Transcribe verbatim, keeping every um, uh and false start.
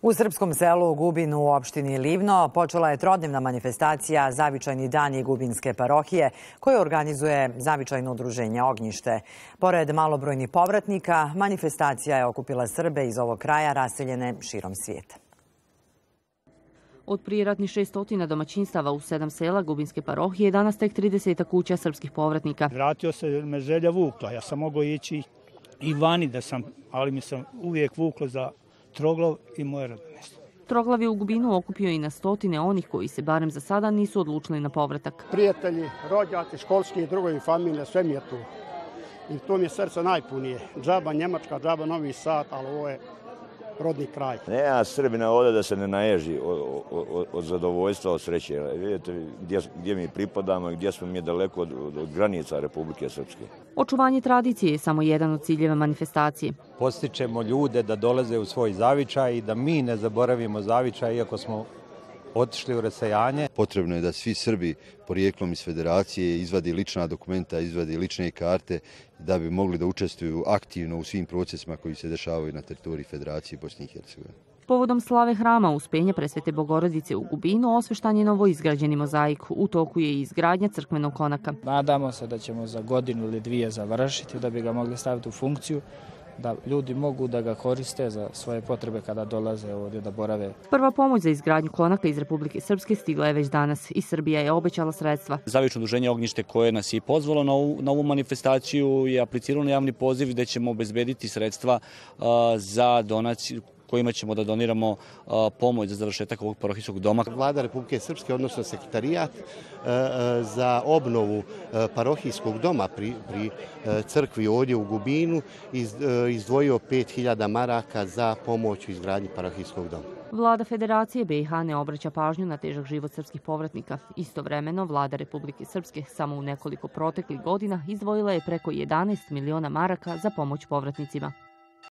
U srpskom selu Gubin u opštini Livno počela je trodnevna manifestacija Zavičajni dani Gubinske parohije koju organizuje Zavičajno udruženje Ognjište. Pored malobrojnih povratnika, manifestacija je okupila Srbe iz ovog kraja raseljene širom svijeta. Od prijeratnih šeststotina domaćinstava u sedam sela Gubinske parohije danas tek trideset kuća srpskih povratnika. Vratio se me želja vukla. Ja sam mogao ići i vani, da sam, ali mi sam uvijek vuklo za Troglav i moje rodno mjesto. Troglav je u Gubinu okupio i na stotine onih koji se barem za sada nisu odlučili na povratak. Prijatelji, rođaci, školski i drugovi familije, sve mi je tu. I to mi je srce najpunije. Džaba Njemačka, džaba Novi Sad, ali ovo je rodni kraj. Nema Srbina ovdje da se ne naježi od, od, od zadovoljstva, od sreće. Vidite gdje, gdje mi pripadamo i gdje smo mi daleko od, od, od granica Republike Srpske. Očuvanje tradicije je samo jedan od ciljeva manifestacije. Postičemo ljude da dolaze u svoj zavičaj i da mi ne zaboravimo zavičaj iako smo otišli u rasejanje. Potrebno je da svi Srbi porijeklom iz federacije izvadi lična dokumenta, izvadi lične karte da bi mogli da učestvuju aktivno u svim procesima koji se dešavaju na teritoriji Federacije Bosne i Hercegovine. Povodom slave hrama Uspenja Presvete Bogorodice u Gubinu osveštan je novoizgrađeni mozaik. U toku je i izgradnja crkvenog konaka. Nadamo se da ćemo za godinu ili dvije završiti da bi ga mogli staviti u funkciju, da ljudi mogu da ga koriste za svoje potrebe kada dolaze ovdje da borave. Prva pomoć za izgradnju konaka iz Republike Srpske stigla je već danas i Srbija je obećala sredstva. Zavično udruženje Ognjište koje nas je pozvalo na ovu, na ovu manifestaciju je apliciralo na javni poziv gdje ćemo obezbediti sredstva uh, za donaciju kojima ćemo da doniramo uh, pomoć za završetak ovog parohijskog doma. Vlada Republike Srpske, odnosno sekretarijat uh, za obnovu uh, parohijskog doma pri, pri uh, crkvi ovdje u Gubinu iz, uh, izdvojio pet hiljada maraka za pomoć u izgradnji parohijskog doma. Vlada Federacije B i H ne obraća pažnju na težak život srpskih povratnika. Istovremeno, Vlada Republike Srpske samo u nekoliko proteklih godina izdvojila je preko jedanaest miliona maraka za pomoć povratnicima.